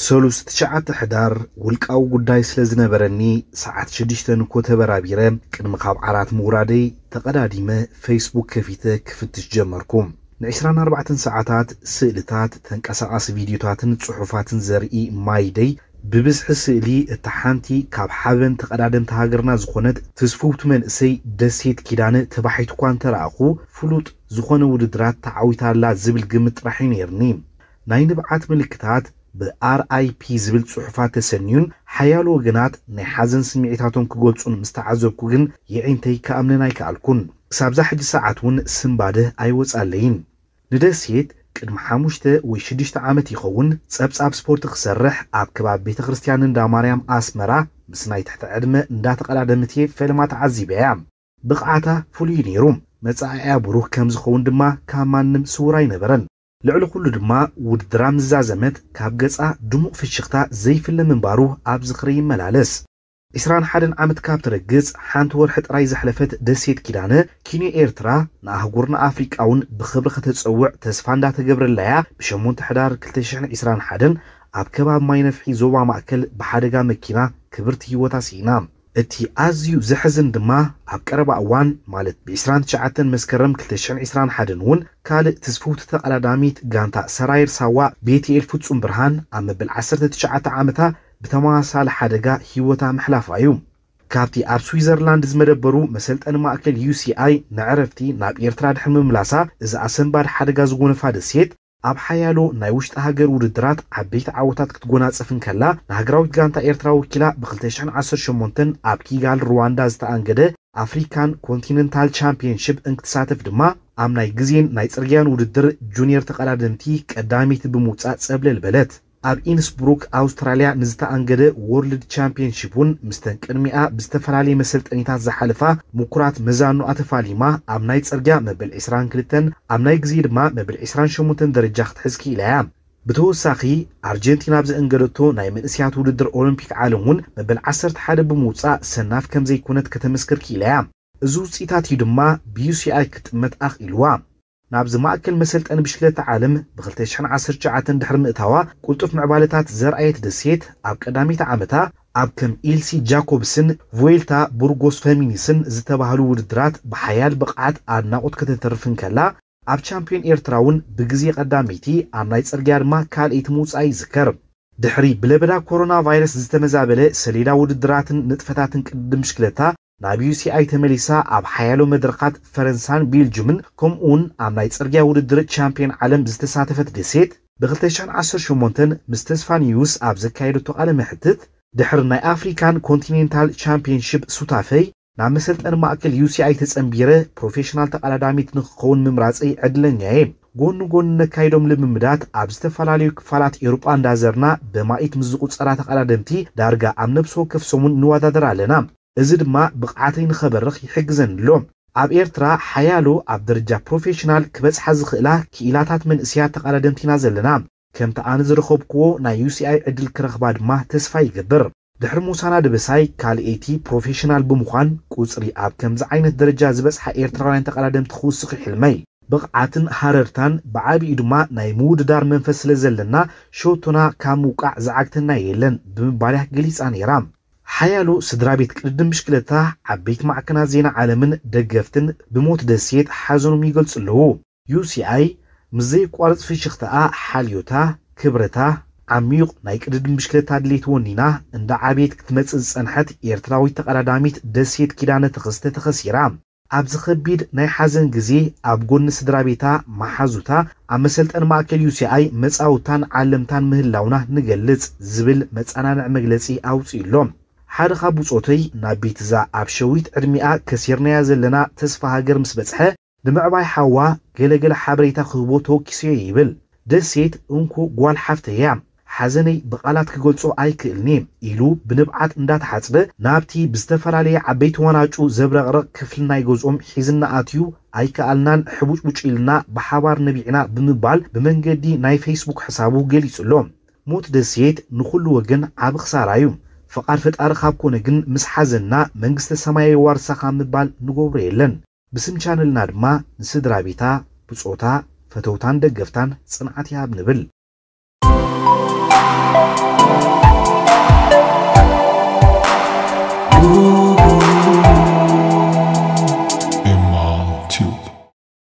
ሰሉስ ትሽዓተ ሕዳር ውልቃዊ ጉዳይ ስለ ዝነበረኒ፣ ሰዓት ሽዱሽተ ንኮ ተበራቢረ፣ ቅድሚ ካብ ዓራት ምውራደይ ተቐዳዲመ ፌስቡክ ከፊተ ክፍትሽ ጀመርኩ። ንዕስራን ኣርባዕተን ሰዓታት ስእልታት፣ ተንቀሳቓሲ ቪድዮታትን ጽሑፋትን ዘርኢ ማይደይ፣ ብብዝሒ ስእሊ እታ ሓንቲ ካብ ሓበን ተቐዳደምቲ ሃገርና ዝኾነት ትስፍውቲ መንእሰይ ደሴት ኪዳነ ተባሒቱ እኳ እንተረኣኹ፣ ፍሉጥ ዝኾነ ውድድራት ተዓዊታ ኣላ ዝብል ግምት ጥራሕ እዩ ነይርኒ። ናይ ንብዓት ምልክታት ብኣር ኣይ ፒ ዝብል ጽሑፋት ተሰንዩን ሓያሎ ወገናት ናይ ሓዘን ስምዒታቶም ክገልጹን ምስ ተዓዘብኩ ግን የዒንተይ ክኣምነን ኣይከኣልኩን። ክሳብዛ ሕጂ ሰዓት እውን ስንባደ ኣይወጻለይን። ንደሴት ቅድሚ ሓሙሽተ ወይ ሽዱሽተ ዓመት ይኸውን ጸብጻብ ስፖርት ክሰርሕ ኣብ ከባቢ ቤተ ክርስቲያን እንዳ ማርያም ኣስመራ ምስ ናይ ትሕቲ ዕድመ እንዳተቐዳደመት እየ ፈለማ ተዓዚበያ። ብቕዓታ ፍሉይ ነይሩ። መጻኢኣ ብሩህ ከም ዝኸውን ድማ ካብ ማንም ስዉር ኣይነበረን። ልዕሊ ኩሉ ድማ ውድድራ ምስ ዛዘመት ካብ ገጻ ድሙቕ ፍሽኽታ ዘይፍለ ምንባሩ ኣብ ዝኽሪ ይመላለስ። ዕስራን ሓደን ዓመት ካብ ትረግጽ ሓንቲ ወርሒ ጥራይ ዘሕለፈት ደሴት ኪዳነ፣ ኪንዮ ኤርትራ ንኣህጉርና ኣፍሪቃ እውን ብኽብሪ ከተጸውዕ ተስፋ እንዳተገብረላያ ብሸሞንተ ሕዳር ክልተ ሽሕን ዕስራን ሓደን ኣብ ከባቢ ማይ ነፍሒ ዞባ ማእከል ብሓደጋ መኪና ክብርቲ ህይወታ ስኢና። እቲ ኣዝዩ ዘሕዝን ድማ ኣብ ቀረባ እዋን ማለት ብዕስራን ትሽዓተን መስከረም ክልተ ሽሕን ዕስራን ሓደን እውን ካልእ ትስፍውቲ ተቐዳዳሚት ጋንታ ሰራየር ሳዋ ቤትኤል ፍጹም ብርሃን ኣብ መበል ዓሰርተ ትሽዓተ ዓመታ ብተመሳሳሊ ሓደጋ ህይወታ ምሕላፋ እዩ። ካብቲ ኣብ ስዊዘርላንድ ዝመደበሩ መሰልጠኒ ማእከል ዩ ሲ ኣይ ንዕረፍቲ ናብ ኤርትራ ድሕሪ ምምላሳ፣ እዚ ኣሰንባዲ ሓደጋ ዝጎነፋ ደሴት፣ ኣብ ሓያሎ ናይ ውሽጢ ሃገር ውድድራት ዓበይቲ ዓወታት ክትጎናጸፍ እንከላ፣ ንሃገራዊት ጋንታ ኤርትራ ወኪላ ብ ክልተ ሽሕን ዓሰርተ ሸሞንተን ኣብ ኪጋል ሩዋንዳ ዝተኣንገደ ኣፍሪካን ኮንቲነንታል ቻምፒየንሺፕ እንክትሳተፍ ድማ፣ ኣብ ናይ ግዜን ናይ ጽርግያን ውድድር ጁኒየር ተቐዳደምቲ ቀዳመይቲ ብምውጻእ ጸብለል በለት። ኣብ ኢንስብሩክ ኣውስትራልያ ንዝተኣንገደ ወርልድ ቻምፒየንሺፕ እውን ምስተን ቅድሚኣ ብዝተፈላለየ መሰልጠኒታት ዝሓለፋ ምኩራት መዛኑኣ ተፋሊማ ኣብ ናይ ጽርግያ መበል ዕስራን ክልተን ኣብ ናይ ግዜ ድማ መበል ዕስራን ሸሞንተን ደረጃ ክትሕዝ ክኢላ እያ። ብተወሳኺ ኣርጀንቲና ኣብ ዘእንገደቶ ናይ መንእስያት ውድድር ኦሎምፒክ ዓለም እውን መበል ዓሰርተ ሓደ ብምውጻእ ሰናፍ ከም ዘይኮነት ከተመስክር ክኢላ እያ። እዚ ውጽኢታት እዩ ድማ ብ ዩ ሲ ኣይ ክትጥመት ኣኽኢልዋ። ናብዚ ማእከል መሰልጠኒ ብሽክለታ ዓለም ብ ክልተ ሽሕን ዓሰርተ ትሽዓተን ድሕሪ ምእታዋ፣ ቅልጡፍ ምዕባለታት ዘርኣየት ደሴት፣ ኣብ ቀዳመይቲ ዓመታ ኣብ ከም ኢልሲ ጃኮብስን ቮይልታ ቡርጎስ ፈሚኒስን ዝተባህሉ ውድድራት ብሓያል ብቕዓት ኣድናቖት ከተተርፍ እንከላ፣ ኣብ ቻምፒዮን ኤርትራ እውን ብግዜ ቀዳመይቲ፣ ኣብ ናይ ጽርግያ ድማ ካልኣይቲ ምውጻኣ ይዝከር። ድሕሪ ብለበዳ ኮሮና ቫይረስ ዝተመዛበለ ሰሌዳ ውድድራትን ንጥፈታትን ቅድድም ብሽክለታ ናብ ዩ ሲ ኣይ ተመሊሳ ኣብ ሓያሎ መድረኻት ፈረንሳን ቤልጅምን ከምኡውን ኣብ ናይ ጽርግያ ውድድር ቻምፒዮን ዓለም ዝተሳተፈት ደሴት፣ ብ ክልተ ሽሕን ዓሰርተ ሸሞንተን ምስ ተስፋ ኒውስ ኣብ ዘካየደቶ ቃለ መሕትት፣ ድሕሪ ናይ ኣፍሪካን ኮንቲኔንታል ቻምፒዮንሺፕ ሱታፈይ ናብ መሰልጠኒ ማእከል ዩ ሲ ኣይ ተጸንቢረ ፕሮፌሽናል ተቐዳዳሚት ንክኸውን ምምራጸይ ዕድለኛ እየ። ጎኒ ጎኒ ነካይዶም ልምምዳት ኣብ ዝተፈላለዩ ክፋላት ኤውሮጳ እንዳዘርና በማኢት ምስ ዝቑጸራ ተቐዳደምቲ ዳርጋ ኣብ ነብሲ ወከፍ ሰሙን ንወዳደር ኣለና። እዚ ድማ ብቕዓተይ ንኸበርኽ ይሕግዘኒ ኣሎ። ኣብ ኤርትራ ሓያሎ ኣብ ደረጃ ፕሮፌሽናል ክበጽሓ ዝኽእላ ክኢላታት መንእስያት ተቐዳደምቲ ኢና ዘለና። ከምቲ ኣነ ዝረኸብክዎ ናይ ዩ ሲ ኣይ ዕድል ክረኽባ ድማ ተስፋ ይገብር። ድሕሪ ሙሳና ደበሳይ ካልኣይቲ ፕሮፌሽናል ብምዃን ቁጽሪ ኣብ ከምዚ ዓይነት ደረጃ ዝበጽሓ ኤርትራውያን ተቐዳደምቲ ክውስኽ እዩ ሕልመይ። ብቕዓትን ሃረርታን ብዓቢኡ ድማ ናይ ምውድዳር መንፈስ ስለ ዘለና ሸቶና ካብ ምውቃዕ ዝዓግተና የለን ብምባል እያ ገሊጻ ነይራ። ሓያሎ ስድራ ቤት ቅድድም ብሽክለታ፣ ዓበይቲ ማዕከናት ዜና ዓለምን ደገፍትን ብሞት ደሴት ሓዘኖም ይገልጹ ኣለዉ። ዩ ሲ ኣይ ምስ ዘየቋርጽ ፍሽኽታኣ፣ ሓልዮታ፣ ክብረታ፣ ዓሚዩቕ ናይ ቅድድም ብሽክለታ ድሌት ወኒና እንዳ ዓብየት ክትመጽእ ዝጸንሐት ኤርትራዊት ተቐዳዳሚት ደሴት ኪዳነ ተኸስተ ተኸሲራ። ኣብዚ ኸቢድ ናይ ሓዘን ግዜ ኣብ ጎኒ ስድራ ቤታ፣ መሓዙታ፣ ኣብ መሰልጠኒ ማእከል ዩ ሲ ኣይ መጻውታን ዓለምታን ምህላውና ንገልጽ ዝብል መጸናንዒ መግለጺ ኣውጺኡ ኣሎ። ሓደ ካብ ብጾተይ ናብ ቤትዛ ኣብ ሸዊት ዕድሚኣ ከሲርናያ ዘለና ተስፋ ሃገር ምስ በጽሐ፣ ንምዕባይ ሓዋ ገለ ገለ ሓበሬታ ክህቦ ተወኪሰዮ ይብል። ደሴት እንኮ ጓል ሓፍተይ እያ። ሓዘነይ ብቓላት ክገልጾ ኣይክእልን'የ ኢሉ ብንብዓት እንዳተሓጽበ ናብቲ ብዝተፈላለየ ዓበይቲ ዋናጩ ዘብረቕርቕ ክፍሊ ናይ ገዝኦም ሒዝና ኣትዩ ኣይከኣልናን ሕቡጭቡጭ ኢልና ብሓባር ነቢዕና ብምባል ብመንገዲ ናይ ፌስቡክ ሕሳቡ ገሊጹ ኣሎ። ሞት ደሴት ንኹሉ ወገን ዓቢ ክሳራ እዩ። ፍቓድ ፈጣሪ ካብ ኮነ ግን ምስ ሓዘንና መንግስተ ሰማይ የዋርሳ ካብ ምባል ንገብሮ የለን። ብስም ቻነልና ድማ ንስድራ ቤታ፣ ብጾታ፣ ፈተውታን ደገፍታን ጽንዓት ይሃብ ንብል።